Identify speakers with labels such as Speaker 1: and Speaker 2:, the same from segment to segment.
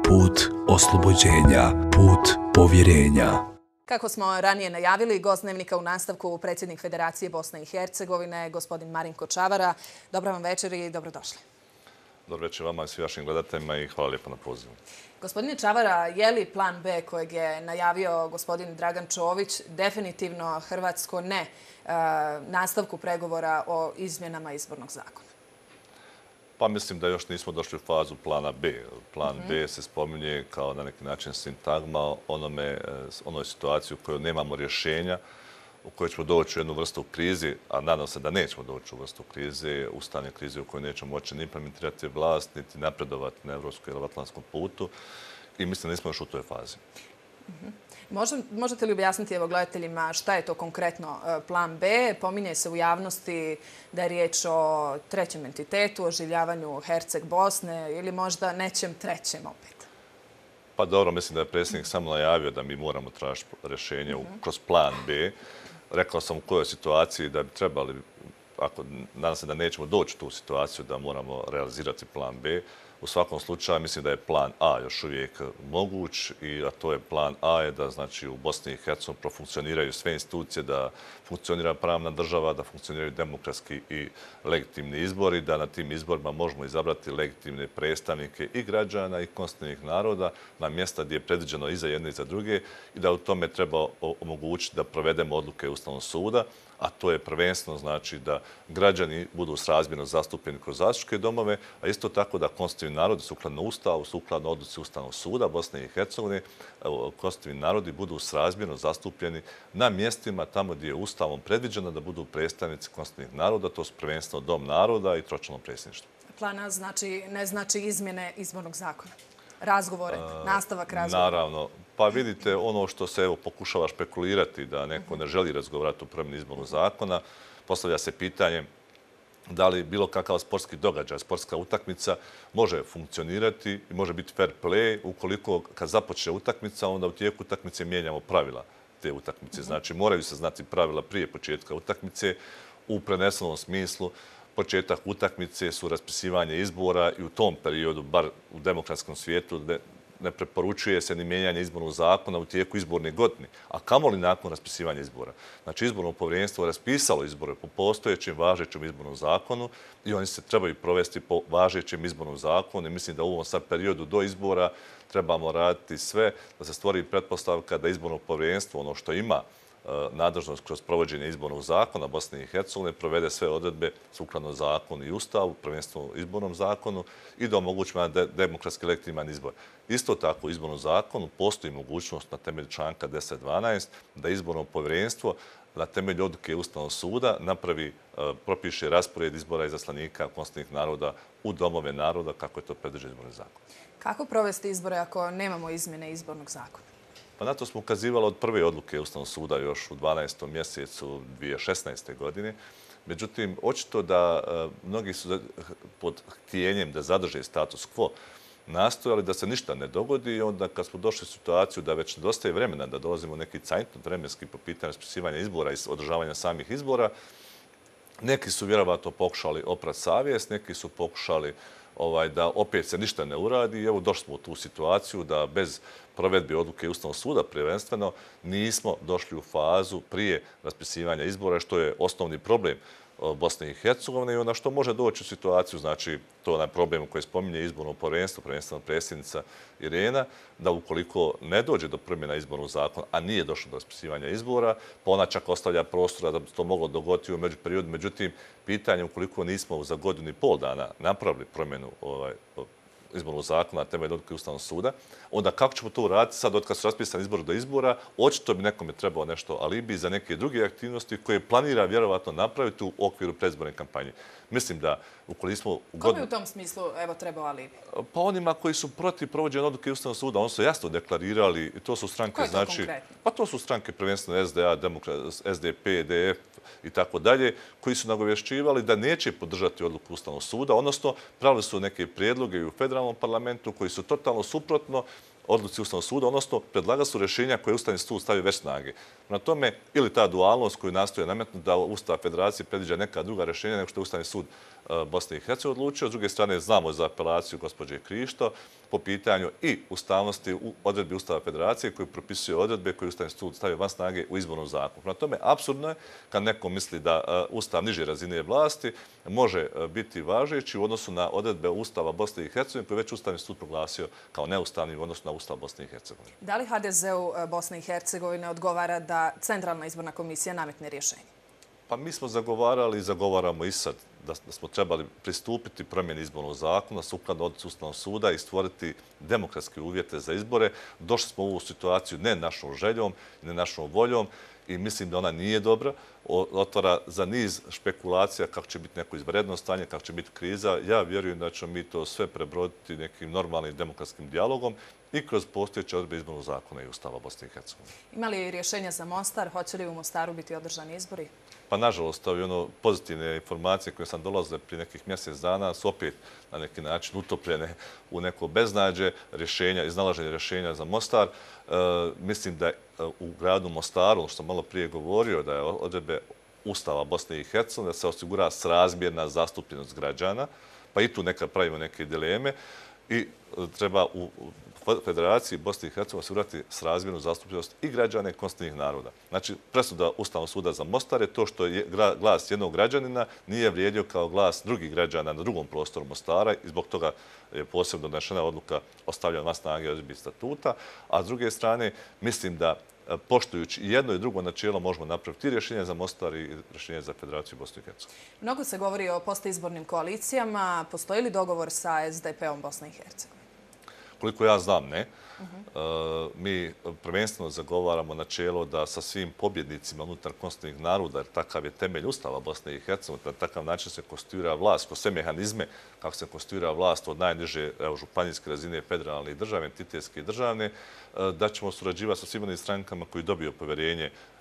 Speaker 1: put oslobođenja, put povjerenja.
Speaker 2: Kako smo ranije najavili, gost Dnevnika u nastavku predsjednik Federacije Bosne i Hercegovine, gospodin Marinko Čavara. Dobar vam večer i dobrodošli.
Speaker 3: Dobro večer vama i svim vašim gledateljima i hvala lijepo na pozivu.
Speaker 2: Gospodine Čavara, je li plan B kojeg je najavio gospodin Dragan Čović definitivno hrvatsko ne nastavku pregovora o izmjenama izbornog zakona?
Speaker 3: Pa mislim da još nismo došli u fazu plana B. Plan B se spominje kao na neki način sintagma onoj situaciji u kojoj nemamo rješenja, u kojoj ćemo doći u jednu vrstu krize, a nadam se da nećemo doći u vrstu krize, ustavne krize u kojoj nećemo moći ni implementirati vlast, niti napredovati na evropskom ili atlantskom putu. I mislim da nismo još u toj fazi.
Speaker 2: Možete li objasniti gledateljima šta je to konkretno plan B? Pominje se u javnosti da je riječ o trećem entitetu, oživljavanju Herceg Bosne ili možda nečem trećem opet.
Speaker 3: Pa dobro, mislim da je predsjednik samo najavio da mi moramo tražiti rješenje kroz plan B. Rekao sam u kojoj situaciji da bi trebali, nadam se da nećemo doći u tu situaciju da moramo realizirati plan B. U svakom slučaju mislim da je plan A još uvijek moguć, a to je plan A je da znači u Bosni i Hercegovini profunkcioniraju sve institucije, da funkcionira pravna država, da funkcioniraju demokratski i legitimni izbori, da na tim izborima možemo izabrati legitimne predstavnike i građana i konstitutivnih naroda na mjesta gdje je predviđeno i za jedne i za druge i da u tome treba omogućiti da provedemo odluke Ustavnog suda, a to je prvenstveno znači da građani budu srazmjerno zastupljeni kroz zastupničke domove, a isto tako da konstitutivni narodi sukladno Ustavu, sukladno odluci Ustavnog suda Bosne i Hercegovine, konstitutivni narodi budu srazmjerno zastupljeni na mjestima tamo gdje je Ustavom predviđeno da budu predstavnici konstitutivnih naroda, to su prvenstveno Dom naroda i tročlano predsjedništvo.
Speaker 2: Plan A ne znači izmjene izbornog zakona? Razgovore, nastavak razgovora?
Speaker 3: Naravno. Pa vidite, ono što se pokušava špekulirati da neko ne želi razgovarati o promjeni izbornog zakona, postavlja se pitanje da li bilo kakav sportski događaj, sportska utakmica može funkcionirati i može biti fair play ukoliko kad započne utakmica, onda u tijeku utakmice mijenjamo pravila te utakmice. Znači, moraju se znati pravila prije početka utakmice u prenesenom smislu. Početak utakmice su raspisivanje izbora i u tom periodu, bar u demokratskom svijetu, ne preporučuje se ni mijenjanje izbornog zakona u tijeku izborne godine, a kamoli nakon raspisivanja izbora. Znači, izborno povjerenstvo je raspisalo izbore po postojećem važećem izbornom zakonu i oni se trebaju provesti po važećem izbornom zakonu i mislim da u ovom sad periodu do izbora trebamo raditi sve da se stvori pretpostavka da izborno povjerenstvo, ono što ima nadležnost kroz provođenje izbornog zakona Bosne i Hercegovine, provede sve odredbe sukladno zakonu i Ustavu, prvenstveno izbornom zakonu i da omogućimo demokratski legitiman izbor. Isto tako u izbornom zakonu postoji mogućnost na temelju članka 10.12 da izborno povjerenstvo na temelju odluke Ustavnog suda propiše raspored izbora izaslanika konstitutivnih naroda u domove naroda kako je to predviđeno izbornim zakonom.
Speaker 2: Kako provesti izbore ako nemamo izmjene izbornog zakona?
Speaker 3: Pa na to smo ukazivali od prve odluke Ustavnog suda još u 12. mjesecu 2016. godine. Međutim, očito da mnogi su pod htjenjem da zadrže status quo nastojali da se ništa ne dogodi i onda kad smo došli u situaciju da već nedostaje vremena da dolazimo u neki cajtnot vremenski po pitanju raspisivanja izbora i održavanja samih izbora, neki su vjerovatno pokušali oprati savjest, neki su pokušali da opet se ništa ne uradi i evo došli smo u tu situaciju da bez provedbe odluke Ustavnog suda prvenstveno nismo došli u fazu prije raspisivanja izbora, što je osnovni problem Bosne i Hercegovine i onda što može doći u situaciju, znači to je onaj problem koji spominje izborno povjerenstvo, prvenstveno predsjednica Irena, da ukoliko ne dođe do promjena izbornog zakona, a nije došlo do raspisivanja izbora, pa ona čak ostavlja prostora da bi to moglo dogoditi u međuperiodu. Međutim, pitanje ukoliko nismo za godinu i pol dana napravili promjenu izbornog zakona na temelju odluke Ustavnog suda, onda kako ćemo to uraditi sad od kad su raspisani izbori do izbora, očito bi nekome trebao nešto alibi za neke druge aktivnosti koje planira vjerovatno napraviti u okviru predizborne kampanje. Mislim da ukoliko smo...
Speaker 2: Kome u tom smislu trebao alibi?
Speaker 3: Pa onima koji su protiv provođenja odluke Ustavnog suda, oni su jasno deklarirali i to su stranke...
Speaker 2: Ko je to konkretno?
Speaker 3: Pa to su stranke prvenstveno SDA, SDP, DF i tako dalje, koji su nagovješćivali da neće podržati odluku Ustavnog suda, odnosno pravili su neke prijedloge i u federalnom parlamentu koji su totalno suprotno odluci Ustavnog suda, odnosno predlagali su rješenja koje Ustavni sud stavi već snage. Na tome ili ta dualnost koju nastoje nametnuti da Ustav Federacije predviđa neka druga rješenja nego što je Ustavni sud Bosne i Hercegovine odlučio. S druge strane, znamo za apelaciju gospođe Krišto po pitanju i ustavnosti u odredbi Ustava Federacije koji propisuje odredbe koje Ustavni sud stavio van snage u izbornom zakonu. Prema tome, apsurdno je kad neko misli da Ustav niže razine vlasti može biti važeći u odnosu na odredbe Ustava Bosne i Hercegovine koje već Ustavni sud proglasio kao neustavni u odnosu na Ustav Bosne i Hercegovine.
Speaker 2: Da li HDZ-u Bosne i Hercegovine odgovara da Centralna izborna komisija nametne rješenje?
Speaker 3: Pa mi smo zagovarali i zagovaramo i sad da smo trebali pristupiti promjeni izbornog zakona sukladno odluci Ustavnog suda i stvoriti demokratske uvjete za izbore. Došli smo u ovu situaciju ne našom željom, ne našom voljom i mislim da ona nije dobra. Otvara za niz špekulacija kako će biti neko izvanredno stanje, kako će biti kriza. Ja vjerujem da ćemo mi to sve prebroditi nekim normalnim demokratskim dijalogom i kroz postojeće odredbe izbornog zakona i Ustava Bosne i Hercegovine.
Speaker 2: Ima li rješenja za Mostar? Hoće li u Mostaru biti održani izbori?
Speaker 3: Pa nažalost, pozitivne informacije koje sam dolazile prije nekih mjesec dana su opet na neki način utopljene u neko beznađe iznalaženje rješenja za Mostar. Mislim da u gradu Mostaru, što sam malo prije govorio, da je odredbe Ustava Bosne i Hercegovine, da se osigura srazmjerna zastupljenost građana, pa i tu pravimo neke dileme i treba u Federaciji Bosne i Hercegovine osigurati srazmjernu zastupljenost i građana i konstitutivnih naroda. Znači, presuda Ustavnog suda za Mostar je to što je glas jednog građanina nije vrijedio kao glas drugih građana na drugom prostoru Mostara i zbog toga je posebno donešena odluka o stavljanju van snage odredbi statuta. A s druge strane, mislim da poštujući jedno i drugo načelo možemo napraviti i rješenje za Mostar i rješenje za Federaciju Bosne i Hercegovine.
Speaker 2: Mnogo se govori o postoizbornim koalicijama. Postoji li dogovor sa SDP-om Bosne i Hercegovine?
Speaker 3: Koliko ja znam, ne. Mi prvenstveno zagovaramo načelo da sa svim pobjednicima unutar konstitutivnih naroda, jer takav je temelj Ustava Bosne i Hercegovine, na takav način se konstituira vlast, kroz sve mehanizme kako se konstituira vlast od najniže županijske razine, federalne i državne, entitetske i državne, da ćemo surađivati sa svim onim strankama koji dobiju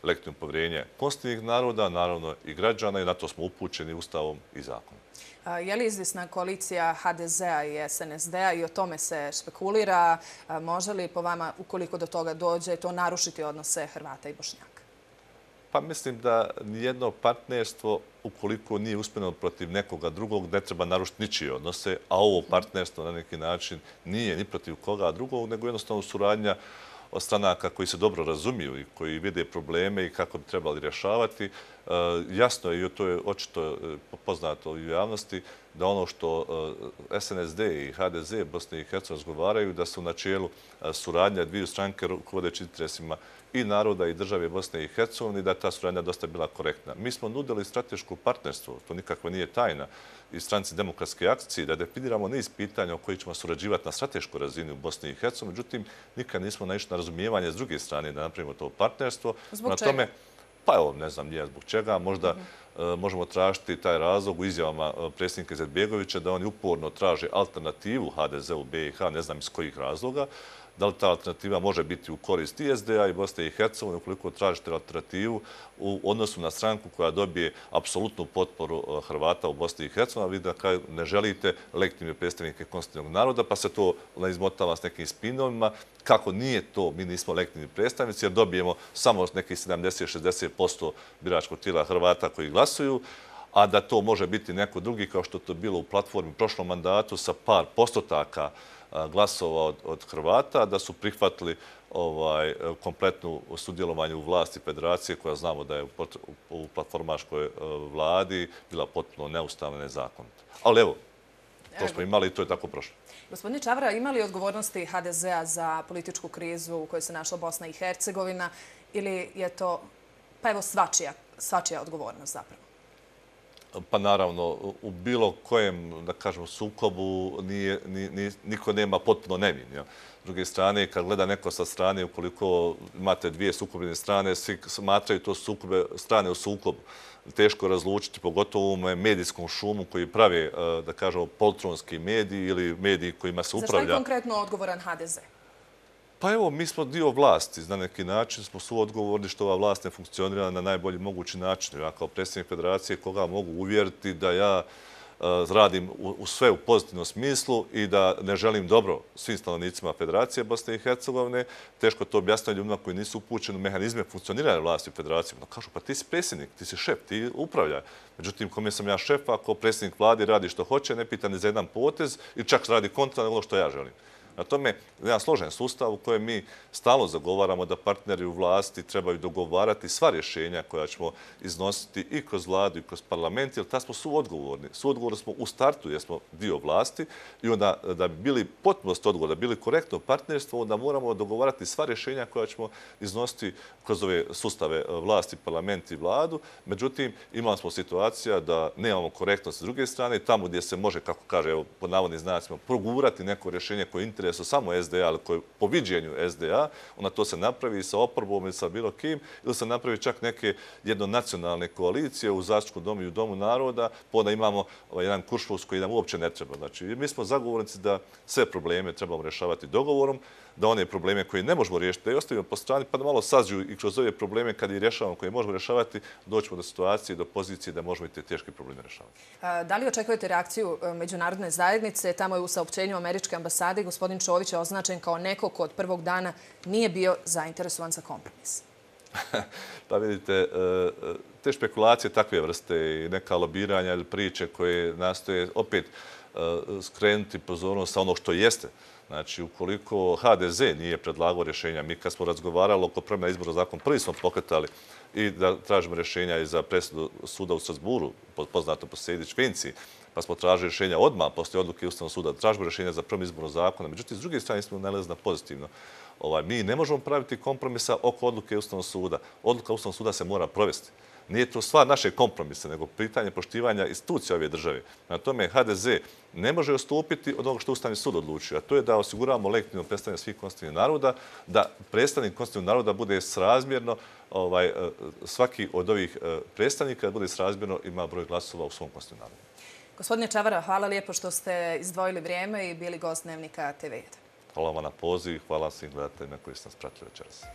Speaker 3: legitimno povjerenje konstitutivnih naroda, naravno i građana i na to smo upućeni Ustavom i zakonom.
Speaker 2: Je li izvisna koalicija HDZ-a i SNSD-a i o tome se špekulira? Može li po vama, ukoliko do toga dođe, to narušiti odnose Hrvata i Bošnjaka?
Speaker 3: Pa mislim da nijedno partnerstvo, ukoliko nije usmjereno protiv nekoga drugog, ne treba narušiti ničije odnose, a ovo partnerstvo na neki način nije ni protiv koga drugog, nego jednostavno suradnja od stranaka koji se dobro razumiju i koji vide probleme i kako bi trebali rješavati. Jasno je, i to je očito poznato u javnosti, da ono što SNSD i HDZ Bosne i Hercegovine razgovaraju, da su u načelu suradnja dviju stranke rukovodeći interesima i naroda i države Bosne i Hercegovine i da je ta suradnja dosta bila korektna. Mi smo nudili strateško partnerstvo, to nikako nije tajna, i stranci demokratske akcije, da definiramo niz pitanja o kojih ćemo surađivati na strateškoj razini u Bosni i Hercegovini. Međutim, nikad nismo naišli na razumijevanje s druge strane da napravimo to partnerstvo.
Speaker 2: Zbog čega?
Speaker 3: Pa evo, ne znam nije zbog čega. Možda možemo tražiti taj razlog u izjavama predsjednika Izetbegovića da oni uporno traže alternativu HDZ-u BiH, ne znam iz kojih razloga. Da li ta alternativa može biti u korist i SDA i Bosne i Hercegovine, ukoliko tražite alternativu u odnosu na stranku koja dobije apsolutnu potporu Hrvata u Bosni i Hercegovini, a vi da ne želite legitimne predstavnike konstitutivnog naroda, pa se to izmotava s nekim spinovima. Kako nije to, mi nismo legitimni predstavnici, jer dobijemo samo nekih 70-60% biračkog tijela Hrvata koji glasuju, a da to može biti neko drugi, kao što to bilo u platformi u prošlom mandatu sa par postotaka glasova od Hrvata, da su prihvatili kompletnu sudjelovanje u vlasti federacije, koja znamo da je u platformaškoj vladi bila potpuno neustavna i nezakonita. Ali evo, to smo imali i to je tako prošlo.
Speaker 2: Gospodine Čavra, ima li odgovornosti HDZ-a za političku krizu u kojoj se našla Bosna i Hercegovina ili je to, pa evo, svačija odgovornost zapravo?
Speaker 3: Pa naravno, u bilo kojem, da kažemo, sukobu niko nema potpuno nevin. S druge strane, kad gleda neko sa strane, ukoliko imate dvije sukobljene strane, svi smatraju to strane u sukobu. Teško razlučiti, pogotovo u medijskom šumu koji prave, da kažemo, poltronski mediji ili mediji kojima se upravlja.
Speaker 2: Za što je konkretno odgovoran HDZ?
Speaker 3: Pa evo, mi smo dio vlasti. Na neki način smo suodgovorni što ova vlast ne funkcionira na najbolji mogući način. Ja kao predsjednik federacije koga mogu uvjeriti da ja radim u sve u pozitivnom smislu i da ne želim dobro svim stanovnicima Federacije Bosne i Hercegovine. Teško to objasniti ljudima koji nisu upućeni u mehanizme funkcioniranja vlasti u Federaciji. No, kažu, pa ti si predsjednik, ti si šef, ti upravljaj. Međutim, kome sam ja šef, ako predsjednik vlade radi što hoće, ne pita ni za jedan potez ili čak radi kontra nego što ja želim. Na tome jedan složen sustav u kojem mi stalno zagovaramo da partneri u vlasti trebaju dogovarati sva rješenja koja ćemo iznositi i kroz vladu i kroz parlament, jer ta smo suodgovorni. Suodgovorni smo u startu jer smo dio vlasti i onda da bi bili potpunost odgovorni, da bi bili korektno partnerstvo, onda moramo dogovarati sva rješenja koja ćemo iznositi kroz ove sustave vlasti, parlament i vladu. Međutim, imali smo situacija da nemamo korektnost s druge strane, tamo gdje se može, kako kaže, evo, pod navodnim znacima, progurati neko rješenje koje je su samo SDA, ali koje po viđenju SDA, onda to se napravi sa oporbom ili sa bilo kim, ili se napravi čak neke jednonacionalne koalicije u Zastupničkom domu i u Domu naroda, pa onda imamo jedan kuršlus koji nam uopće ne treba. Znači, mi smo zagovornici da sve probleme trebamo rješavati dogovorom, da one probleme koje ne možemo riješiti, da ih ostavimo po strani, pa da malo sađu i kroz ove probleme kad ih rješavamo, koje možemo rješavati, doćemo do situacije, do pozicije da možemo i te teške probleme rješavati.
Speaker 2: Da li očekujete reakciju međunarodne zajednice? Tamo je u saopćenju američke ambasade gospodin Čović je označen kao neko ko od prvog dana nije bio zainteresovan za kompromis.
Speaker 3: Pa vidite, te špekulacije takve vrste i neka lobiranja ili priče koje nastoje opet skrenuti pozornost sa ono što jeste. Znači, ukoliko HDZ nije predlagao rješenja, mi kad smo razgovarali oko promjena izbornog zakona, prvi smo pokretali i da tražimo rješenja i za presudu suda u Strasburu, poznato po Sejdić-Finci, pa smo tražili rješenja odmah poslije odluke Ustavnog suda, tražimo rješenja za promjenu izbornog zakona. Međutim, s druge strane smo nalazili na pozitivno. Mi ne možemo praviti kompromisa oko odluke Ustavnog suda. Odluka Ustavnog suda se mora provesti. Nije to stvar naše kompromise, nego pitanje poštivanja institucija ove države. Na tome HDZ ne može odstupiti od onog što Ustavni sud odlučio, a to je da osiguramo legitimno predstavljanje svih konstitutivnih naroda, da predstavnik konstitutivnog naroda bude srazmjerno, svaki od ovih predstavnika bude srazmjerno ima broj glasova u svom konstitutivnom narodu.
Speaker 2: Gospodine Čavara, hvala lijepo što ste izdvojili vrijeme i bili gost Dnevnika TV1.
Speaker 3: Hvala vam na poziv i hvala svim gledateljima koji ste nas pratili večeras.